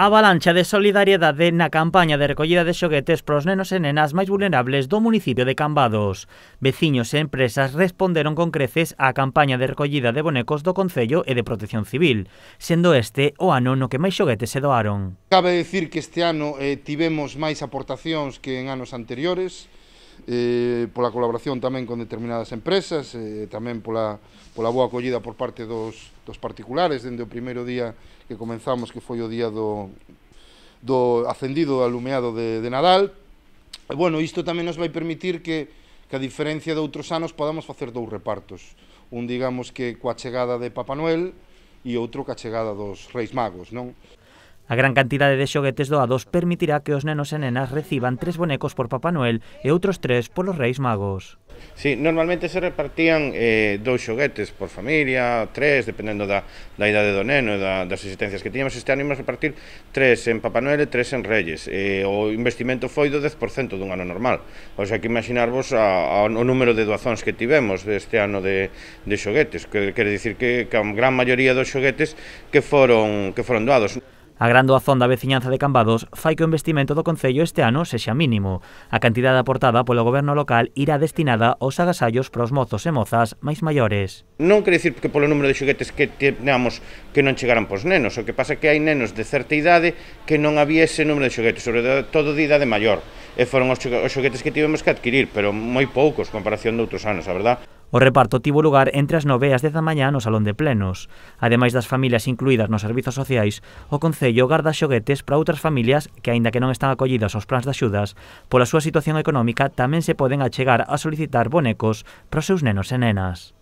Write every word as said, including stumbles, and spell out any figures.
Avalancha de solidariedade na campaña de recollida de xoguetes pros nenos e nenas máis vulnerables do municipio de Cambados. Veciños e empresas responderon con creces á campaña de recollida de bonecos do Concello e de Protección Civil, sendo este o ano no que máis xoguetes se doaron. Cabe dicir que este ano eh, tivemos máis aportacións que en anos anteriores, eh, pola colaboración tamén con determinadas empresas, eh, tamén pola, pola boa acollida por parte dos, dos particulares, dende o primeiro día que comenzamos, que foi o día do, do acendido do alumeado de, de Nadal. E, bueno, isto tamén nos vai permitir que, que a diferencia de outros anos podamos facer dous repartos. Un, digamos, que coa chegada de Papá Noel e outro coa chegada dos Reis Magos, non? A gran cantidade de xoguetes doados permitirá que os nenos e nenas reciban tres bonecos por Papá Noel e outros tres polos Reis Magos. Sí, normalmente se repartían eh, dous xoguetes por familia, tres, dependendo da, da idade do neno e da, das existencias que tiñamos. Este ano imos repartir tres en Papá Noel e tres en Reyes. Eh, o investimento foi do dez por cento dun ano normal. O sea, que imaginarvos a, a, o número de doazóns que tivemos este ano de, de xoguetes, que quere dicir que, que a gran maioría dos xoguetes que foron, que foron doados. A gran doazón da veciñanza de Cambados fai que o investimento do Concello este ano sexa mínimo. A cantidade aportada polo goberno local irá destinada aos agasallos para os mozos e mozas máis maiores. Non quere dicir que polo número de xoguetes que teñamos que non chegaran pos nenos, o que pasa é que hai nenos de certa idade que non había ese número de xoguetes, sobre todo de idade maior, e foron os xoguetes que tivemos que adquirir, pero moi poucos en comparación de outros anos, a verdad. O reparto tivo lugar entre as nove e as dez da mañá no Salón de Plenos. Ademais das familias incluídas nos servizos sociais, o Concello garda xoguetes para outras familias que, aínda que non están acollidas aos plans de axudas, pola súa situación económica tamén se poden achegar a solicitar bonecos para os seus nenos e nenas.